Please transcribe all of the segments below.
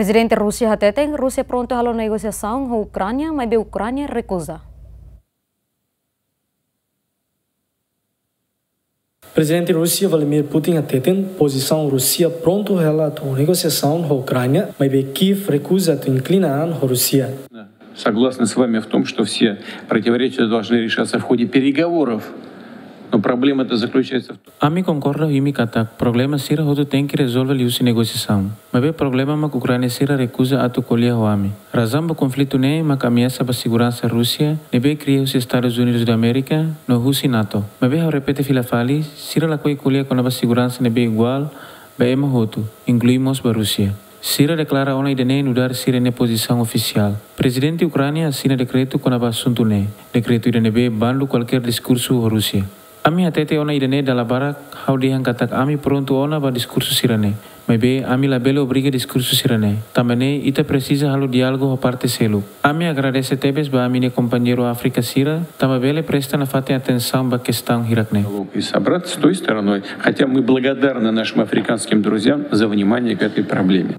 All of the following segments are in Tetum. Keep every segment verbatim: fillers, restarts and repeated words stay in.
Prezidente Rúsia hateten Rúsia prontu halo negosiasaun ho Ukránia, maibé Ukránia rekuza. Prezidente Rúsia Vladimir Putin hateten pozisaun Rúsia prontu hela atu negosiasaun ho Ukránia, maibé Kiev rekuza atu inklina an ho Rúsia. Согласны с вами в том, что все противоречия должны решаться в ходе переговоров. Но проблема-то заключается в том... Ami konkorda ho imi katak problema sira hotu tenke rezolve liuhusi negosiasaun. Maibé problema mak Ukránia sira rekuza atu ko'alia ho ami. Razaun ba konflitu ne'e mak ameasa ba seguransa Rúsia, ne'ebé kria husi Estadus Unidus da Amérika no husi NATO. Maibé ha'u repete fila fali, sira lakohi ko'alia kona-ba seguransa ne'ebé iguál ba ema hotu, inklui mós ba Rúsia. Sira deklara ona ida-ne'e nu'udar sira-nia pozisaun ofisiál. Prezidente Ukránia asina dekretu kona-ba asuntu ne'e. Dekretu ida ne'ebé bandu kualkér diskursu ho Rúsia. Ami hatete ona ida-ne'e dala barak, ha'u dehan katak ami prontu ona ba diskursu sira-ne'e. Maibé ami labele obriga diskursu sira-ne'e. Tanba ne'e ita presiza halo diálogu ho parte seluk. Ami agradese tebes ba ami-nia kompañeiru Áfrika sira, tanba bele presta nafatin atensaun ba kestaun hirak-ne'e. И собраться с той стороной, хотя мы благодарны нашим африканским друзьям за внимание к этой проблеме.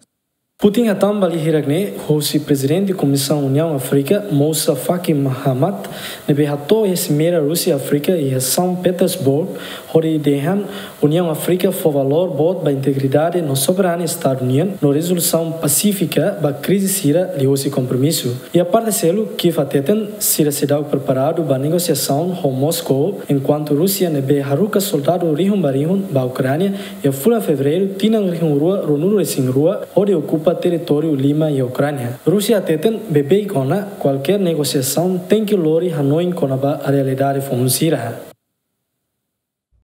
Putin hatán ba lia hirak-ne'e hosi Prezidente Komisaun Uniaun Áfrika, Moussa Faki Mahamat, ne'ebé hato'o iha simeira Rúsia-Áfrika iha São Petersburgo, hodi dehan Uniaun Áfrika fó valór boot ba integridade no soberania Estadu nian no rezolusaun pasífika ba krize sira liuhusi kompromisu. Iha parte seluk, Kiev hateten sira seidauk preparadu ba negosiasaun ho Moscou, enkuantu Rúsia ne'ebé haruka soldadu rihun ba rihun ba Ukránia iha fulan Fevereiru tinan rihun rua ruanulu-resin-rua hodi okupa territóriu lima iha Ukránia. Rúsia hateten beibeik ona kualkér negosiasaun tenke lori hanoin kona-ba realidade foun sira.